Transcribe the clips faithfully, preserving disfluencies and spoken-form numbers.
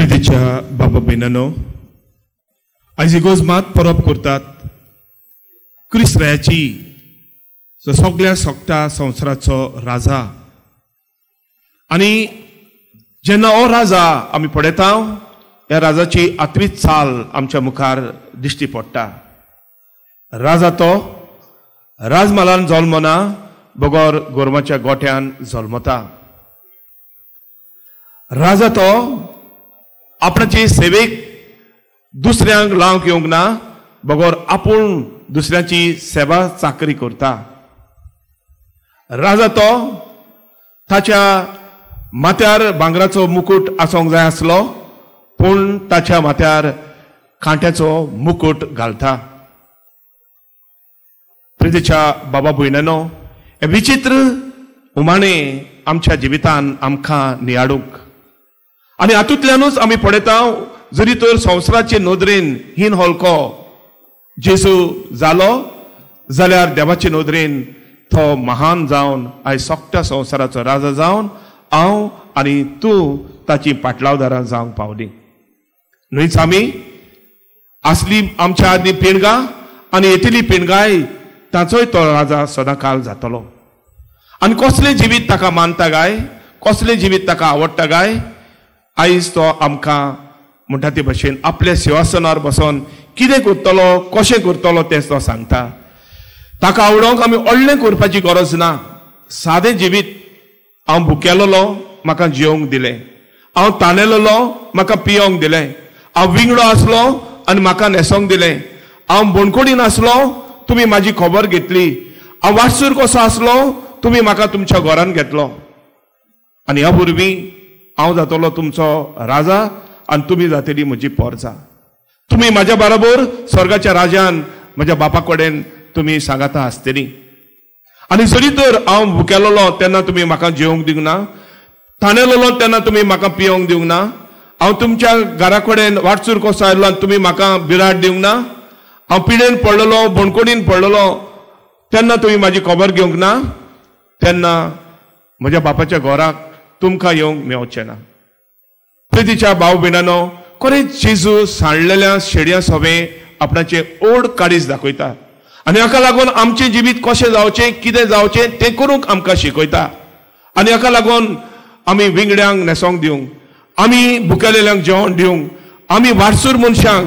प्रितीच्या बाबा भयणांनो, आयज इगोर्ज मात परब करतात क्रिस्त्राची, जो सगळ्या सोगटा संवसाराचो राजा. आनी जेन्ना हो राजा आमी पळयता, ह्या राजाची आत्मीक चाल आमच्या मुखार दिश्टी पडटा. राजा तो राजमालान जल्मना, बगर गोरवाच्या गोठ्यान जल्मता. राजा तो आपणाचे सेवेक दुसऱ्यांक लावंक येवंक ना, बगर आपूण दुसऱ्यांची सेवा चाकरी करता. राजा तो ताच्या माथ्यार भांगराचो मुकूट आसूंक जाय आसलो, पूण ताच्या माथ्यार कांट्याचो मुकूट घालता. प्रितीच्या बाबा भयणांनो, हे विचित्र उमाणे आमच्या जिवितान आमकां नियाडूंक आनी हातूंतल्यानूच आमी पळयता, जरी तर संवसाराचे नदरेन हीन हलको जेजू जालो जाल्यार देवाचे नदरेन तो महान जावन आयज सगळ्या संवसाराचो राजा जावन हांव आनी तूं ताची पाटलावदारां जावंक पावली. न्हयच आमी आसली आमच्या आदली पिणगां आनी येतली पिणगाय ताचोय तो राजा सदांकाल जातलो. आनी कसलें जिवीत ताका मानता काय, कसलें जिवीत ताका आवडटा काय, आयज तो आमकां म्हणटा ते भशेन आपल्या सिंहासनार बसोन कितें करतलो, कशें करतलो तें तो सांगता. ताका आवडोवंक आमी व्हडलें करपाची गरज ना. सादें जिवीत, हांव भुकेलेलो म्हाका जेवंक दिलें, हांव तानेलेलो म्हाका पियोंक दिलें, हांव विंगडो आसलो आनी म्हाका न्हेसोंक दिलें, हांव बोणकोडीन आसलो तुमी म्हाजी खबर घेतली, हांव वाटसूर कसो आसलो तुमी म्हाका तुमच्या घरान घेतलो, आनी ह्या वरवीं हांव जातलो तुमचो राजा आनी तुमी जातली म्हजी पोरजा. तुमी म्हाज्या बरोबर स्वर्गाच्या राजान म्हज्या बापा कडेन तुमी सांगाता आसतली. आनी जरी तर हांव भुकेलेलो तेन्ना तुमी म्हाका जेवंक दिवंक ना, तानेलेलो तेन्ना तुमी म्हाका पियोंक दिवंक ना, हांव तुमच्या घरा कडेन वाटसूर कसो आयलो आनी तुमी म्हाका बिराड दिवंक ना, हांव पिडेन पडलेलो बोणकोडीन पडलेलो तेन्ना तुमी म्हाजी खबर घेवंक ना, तेन्ना म्हज्या बापाच्या घराक तुमकां येवंक मेवचें ना. प्रितीच्या भाव भयणांनो, खरेंच जेजू सांडलेल्या शेडया सोबें आपणाचें ओड काळीज दाखयता आनी हाका लागून आमचें जिवीत कशें जावचें, कितें जावचें तें करूंक आमकां शिकयता. आनी हाका लागून आमी विंगड्यांक न्हेसोंक दिवंक, आमी भुकेलेल्यांक जेवण दिवंक, आमी वाटसूर मनशांक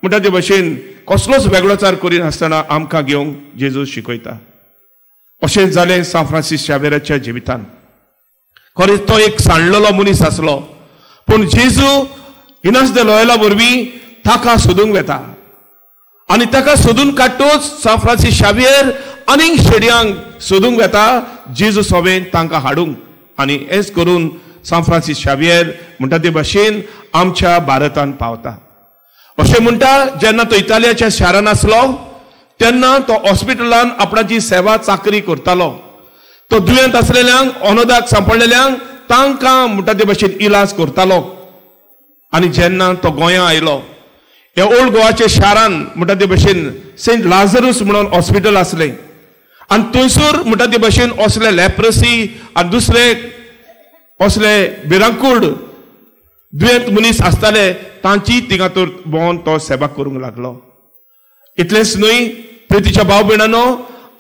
म्हणटा ते भशेन कसलोच वेगळोचार करिनासतना आमकां घेवंक जेजू शिकयता. अशें जालें सांत फ्रांसीस शावेराच्या जिवितान. खरेंच तो एक सांडलेलो मनीस आसलो, पूण जेजू इनास दे लोयला वरवीं ताका सोदूंक वेता आनी ताका सोदून काडटूच सांत फ्रांसीस शावियर आनीक शेडयांक सोदूंक वेता जेजू सोबेन तांकां हाडूंक. आनी हेच करून सांत फ्रांसीस शावियर म्हणटा ते भशेन आमच्या भारतान पावता. अशें म्हणटा, जेन्ना तो इतालियाच्या शारान आसलो तेन्ना तो हॉस्पिटलान आपणाची सेवा चाकरी करतालो. तो दुयेंत आसलेल्यांक, अनोदाक सांपडलेल्यांक तांकां म्हणटा ते भशेन इलाज करतालो. आनी जेन्ना तो गोंया आयलो, ह्या ओल्ड गोवाच्या शारान म्हणटा ते भशेन सेंट लाजरूस म्हणून हॉस्पिटल आसलें आनी थंयसर म्हणटा ते भशेन असले लेप्रसी आनी दुसरे असले भिरांकूळ दुयेंत मनीस आसताले तांची थिंगा तर भोंवन तो सेवा करूंक लागलो. इतलेंच न्हय प्रितीच्या भाव भयणांनो,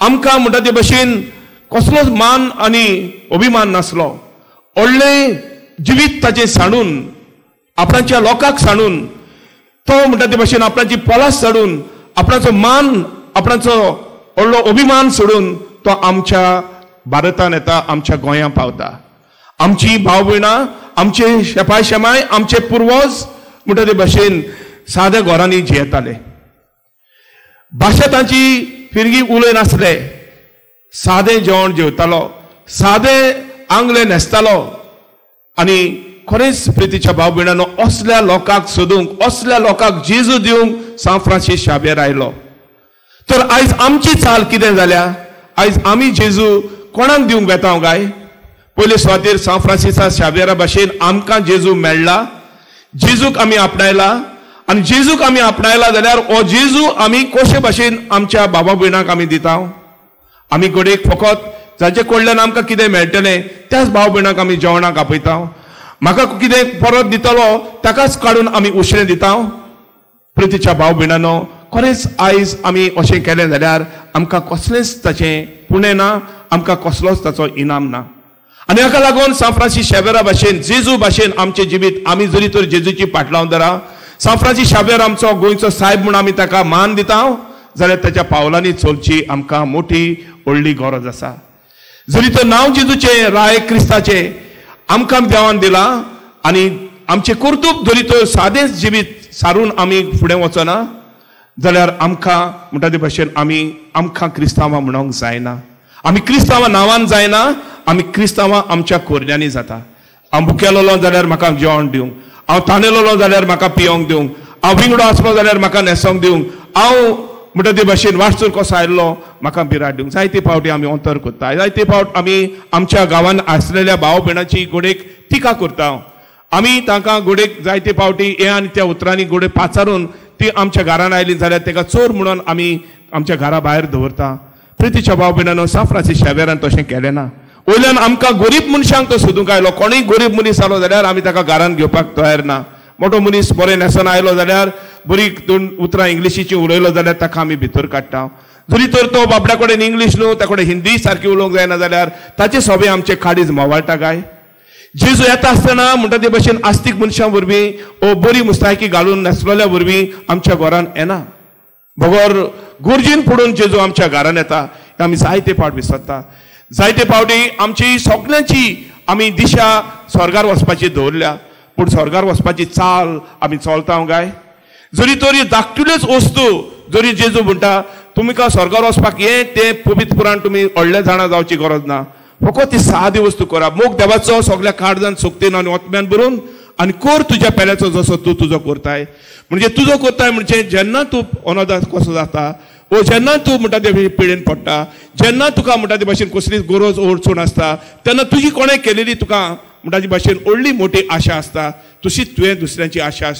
आमकां म्हणटा ते भशेन कसलोच मान आनी अभिमान नासलो. व्हडलें जिवीत ताचें सांडून, आपणाच्या लोकांक सांडून, तो म्हणटा ते भशेन आपणाची पोलास सोडून, आपणाचो मान, आपणाचो व्हडलो अभिमान सोडून तो आमच्या भारतान येता, आमच्या गोंयां पावता. आमची भाव भयणां, आमचे शेपाय शेमाय, आमचे पुर्वज म्हणटा ते भशेन साद्या घरांनी जियेताले. भाशा तांची फिरगी उलय नासले, सादें जेवण जेवतालो, सादें आंगले न्हेसतालो. आनी खरेंच प्रितीच्या भाव भयणांनो, असल्या लोकांक सोदूंक, असल्या लोकांक जेजू दिवंक सांत फ्रांसीस शावियर आयलो. तर आयज आमची चाल कितें जाल्या? आयज आमी जेजू कोणाक दिवंक वेता काय? पयले सुवातेर सांत फ्रांसिसा शावियरा भाशेन आमकां जेजू मेळ्ळा, जेजूक आमी आपणायला आनी जेजूक आमी आपणायला जाल्यार हो जेजू आमी कशे भाशेन आमच्या बाबा भयणांक आमी दिता? आमी घडयेक फकत जाचे कडल्यान आमकां कितें मेळटलें त्याच भाव भयणांक आमी जेवणाक आपयता. म्हाका कितें परत दितलो ताकाच काडून आमी उशणें दिता. प्रितीच्या भाव भयणांनो, खरेंच आयज आमी अशें केलें जाल्यार आमकां कसलेंच ताचें पुणें ना, आमकां कसलोच ताचो इनाम ना. आनी हाका लागून सांत फ्रांसीस शाव्येरा भाशेन, जेजू भाशेन आमचें जिवीत आमी जरी तर जेजूची पाटलावन धरा, सांत फ्रांसीस शाव्येर आमचो गोंयचो सायब म्हूण आमी ताका मान दिता जाल्यार ताच्या पावलांनी चलची आमकां मोठी व्हडली गरज आसा. जरी तर नांव जेजूचें, राय क्रिस्ताचें आमकां देवान दिलां आनी आमचें कर्तुब जरी तर सादेंच जिवीत सारून आमी फुडें वचना जाल्यार आमकां म्हणटा ते भाशेन आमी आमकां क्रिस्तांवां म्हणूंक जायना. आमी क्रिस्तांवां नांवान जायना, आमी क्रिस्तांवां आमच्या कोरड्यांनी जाता. हांव भुकेलोलो जाल्यार म्हाका जेवण दिवंक, हांव तानेलोलो जाल्यार म्हाका पियोंक दिवंक, हांव विंगडो आसलो जाल्यार म्हाका न्हेसोंक दिवंक, हांव म्हणटा ते भाशेन वाटसूर कसो आयिल्लो म्हाका बिराड दिवंक. जायते फावटी आमी अंतर करता, जायते फावट आमी आमच्या गांवांत आसलेल्या भाव भयणाची गोडेक टिका करता. आमी तांकां गोडेक जायते फावटी हे आनी त्या उतरांनी गोडे पाचारून ती आमच्या घरान आयली जाल्यार ताका चोर म्हणून आमी आमच्या घरा भायर दवरता. प्रितीच्या भाव भयणांनो, सांत फ्रांसीस शाव्येरान तशें केलें ना. वयल्यान आमकां गरीब मनशांक तो सोदूंक आयलो. कोणूय गरीब मनीस आलो जाल्यार आमी ताका घरान घेवपाक तयार ना. मोटो मनीस बरें न्हेसोन आयलो जाल्यार, बरी दोन उतरां इंग्लिशीची उलयलो जाल्यार ताका आमी भितर काडटा. जरी तर तो बाबड्या कडेन इंग्लीश न्हू, त्या कडेन हिंदी सारकी उलोवंक जायना जाल्यार ताचे सोबे आमचे काडीज मोवाळटा काय? जेजू येता आसतना म्हणटा ते भशेन आस्तीक मनशां वरवीं ओ बरी मुस्तायकी घालून न्हेसलेल्या वरवीं आमच्या घरान येना, बगर गरजेन पडून जेजू आमच्या घरान येता. आमी जायते फावट विसरता. जायते फावटी आमची सगल्यांची आमी दिशा स्वर्गार वचपाची दवरल्या, पूण स्वर्गार वचपाची चाल आमी चलता काय? जरी तरी धाकटुल्योच वस्तू जरी जेजू म्हणटा तुमकां स्वर्गार वचपाक हें तें पवित्र पुराण तुमी व्हडलें जाणा जावची गरज ना, फकत ती सादी वस्तू करा. मोग देवाचो सगल्या काळजान सोकतेन आनी ओतम्यान भरून आनी कर तुज्या पेल्याचो जसो तूं तुजो करताय. म्हणजे तुजो करताय म्हणजे जेन्ना तूं अनाथ कसो जाता वो जेन्ना तूं म्हणटा ते पिडेन पडटा, जेन्ना तुका म्हणटा ते भाशेन कसलीच गरज अडचण आसता तेन्ना तुजी कोणें केलेली तुका म्हणटा ते भाशेन व्हडली मोठी आशा आसता, तशीच तुवें दुसऱ्यांची आशा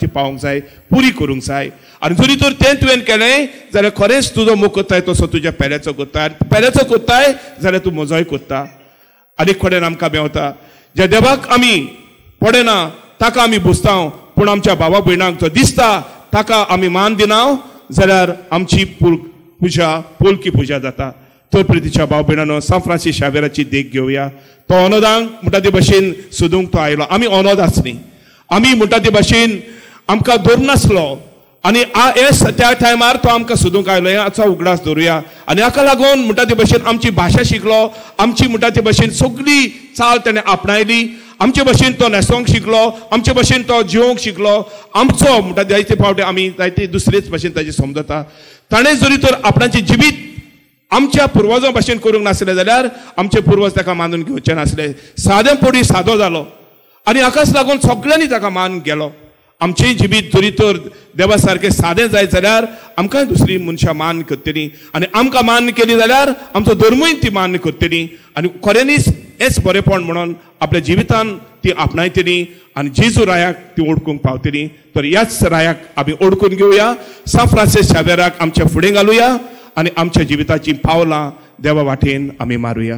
ती पावोवंक जाय, पुरी करूंक जाय. आनी जरी तर तें तुवें केलें जाल्यार खरेंच तुजो मोग करताय तसो तुज्या पेल्याचो करताय, आनी पेल्याचो करताय जाल्यार तूं म्हजोय करता. आनी कडेन आमकां मेवता ज्या देवाक आमी पडना ताका आमी बुजता, पूण आमच्या भावा भयणांक जो दिसता ताका आमी मान दिना जाल्यार आमची पुल पुजा पोलकी पुजा जाता. तर प्रितीच्या भाव भयणांनो, सांत फ्रांसीस शाव्येराची देख घेवया. तो अनोदांक म्हणटा ते भाशेन सोदूंक तो आयलो. आमी अनोद आसली, आमी म्हणटा ते भाशेन आमकां धरनासलो आनी हे त्या टायमार तो आमकां सोदूंक आयलो. हें आतां उगडास दवरुया. आनी हाका लागून म्हणटा ते भाशेन आमची भाशा शिकलो, आमची म्हणटा ते भाशेन सगळी चाल तेणें आपणायली, आमचे भाशेन तो न्हेसोंक शिकलो, आमचे भाशेन तो जिवोंक शिकलो. आमचो म्हणटा जायते फावटी आमी जायते दुसरेच भाशेन ताजें समजता. ताणें जरी तर आपणाचें जिवीत आमच्या पुर्वजां भाशेन करूंक नासलें जाल्यार आमचे पुर्वज ताका मानून घेवचे नासले. सादें पडी सादो जालो आनी हाकाच लागून सगळ्यांनी ताका मान गेलो. आमचें जिवीत जरी तर देवा सारकें सादें जायत जाल्यार आमकां दुसरी मनशां मान करतलीं आनी आमकां मान्य केली जाल्यार आमचो धर्मूय ती मान्य करतली आनी खऱ्यांनीच हेच बरेपण म्हणून आपल्या जिवितान ती आपणायतली आनी जेजू रायाक ती ओळखूंक पावतली. तर ह्याच रायाक आमी ओळखून घेवया, सांत फ्रांसीस शाव्येराक आमच्या फुडें घालुया आनी आमच्या जिविताचीं पावलां देवा वाटेन आमी मारुया.